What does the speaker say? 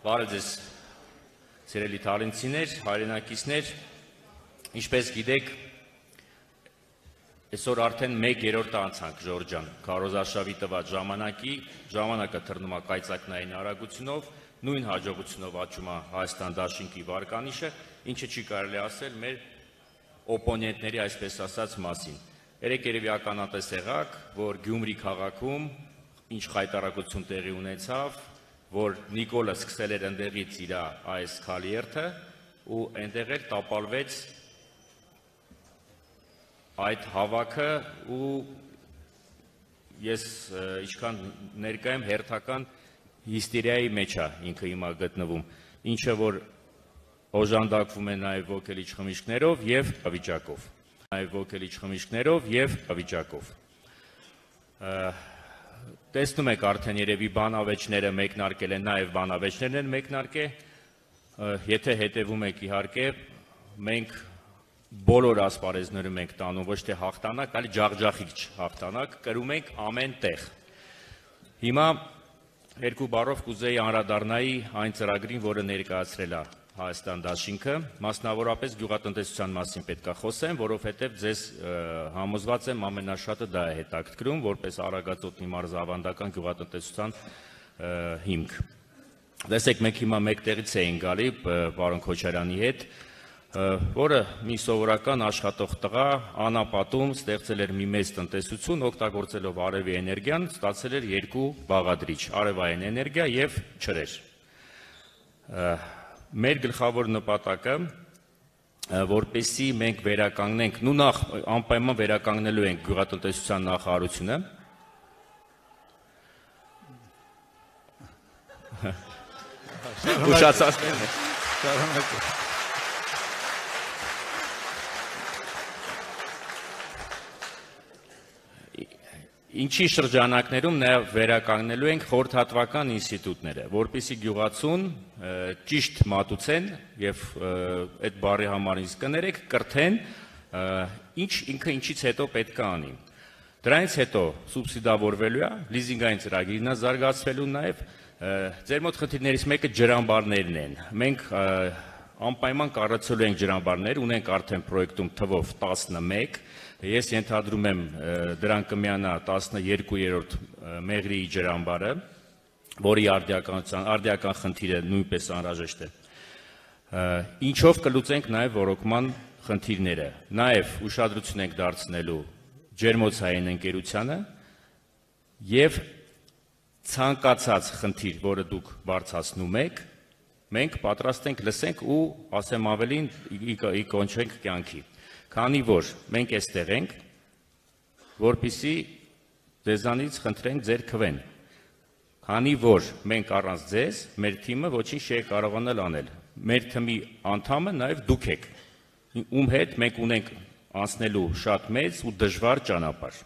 Բարև ձեզ, սիրելի թալինցիներ, հայրենակիցներ, ինչպես գիտեք, այսօր արդեն 1/3 անցանք Ժորժ ջան, քարոզարշավի տված ժամանակը թռնում է կայծակնային արագությունով, նույն հաջողությունով աճում է Հայաստան դաշինքի վարկանիշը, ինչը չի կարելի ասել մեր օպոնենտների, այսպես ասած, մասին։ Երեք երևի ականատես եղաք, որ Գյումրի քաղաքում ինչ խայտարակություն տեղի ունեցավ, որ Նիկոլը սկսել էր ընդեղից իր այս քալիերթը ու այնտեղ էլ տապալվեց այդ հավաքը ու ես ինչքան ներկա եմ հերթական հիստերիայի մեջ է ինքը հիմա գտնվում, ինչը որ օժանդակվում է նաև ոգելիչ խմիչքներով եւ վիճակով։ Տեսնում եք արդեն երևի բանավեճները մեկնարկել են, նաև բանավեճներն են մեկնարկել, եթե հետևում եք իհարկե, մենք բոլոր ասպարեզներում ենք տանում ոչ թե հաղթանակ, այլ ջախջախիչ հաղթանակ, կրում ենք ամեն տեղ։ Հիմա երկու բառով կուզեի անդրադառնայի այն ծրագրին, որը ներկայացրել է Հայաստան դաշինքը, մասնավորապես գյուղատնտեսության մասին պետք է խոսեմ, որովհետև ձեզ համոզված եմ ամենաշատը դա է հետաքրքրում, որպես Արագածոտնի մարզի ավանդական գյուղատնտեսության հիմք։ Տեսեք, մենք հիմա մեկ տեղից էինք գալի պարոն Քոչարյանի հետ, որը մի սովորական աշխատող տղա անապատում ստեղծել էր մի մեծ տնտեսություն, օգտագործելով արևի էներգիան, ստացել էր երկու բաղադրիչ, արևային էներգիա եւ ջրեր։ Մեր գլխավոր նպատակը, որպեսզի մենք վերականգնենք, նու նախ անպայման վերականգնելու ենք գյուղատնտեսության նախարարությունը, ուշացածներն է, ինչի շրջանակներում նաև վերականգնելու ենք խորհրդատվական ինստիտուտները, որպեսզի գյուղացուն ճիշտ մատուցեն եւ այդ բառի համար ինձ կներեք, կրթեն, ինքը ինչից հետո պետք է անի։ Դրանից հետո սուբսիդավորվելու է, լիզինգային ծրագիրն է զարգացվելու նաև, ձեր մոտ խնդիրներից մեկը ջրամբարներն են։ Մենք անպայման կառուցելու ենք ջրամբարներ, ունենք արդեն պրոյեկտում թվով 11, ես ենթադրում եմ դրան կմիանա 12-րդ Մեղրիի ջրամբարը, որի արդիական խնդիրը նույնպես անհրաժեշտ է։ Ինչով կլուծենք նաև ոռոգման խնդիրները, նաև ուշադրություն ենք դարձնելու ջերմոցային ընկերությանը եւ ցանկացած խնդիր, որը դուք բարձրացնում եք, մենք պատրաստ ենք լսենք ու ասեմ ավելին կոնչենք կյանքի։ Քանի որ մենք այստեղ ենք, որպեսզի ձեզանից խնդրենք ձեր քվեն։ Քանի որ մենք առանց ձեզ, մեր թիմը ոչինչ չի կարողանալ անել։ Մեր թիմի անդամը նաև դուք եք, ում հետ մենք ունենք անցնելու շատ մեծ ու դժվար ճանապարհ։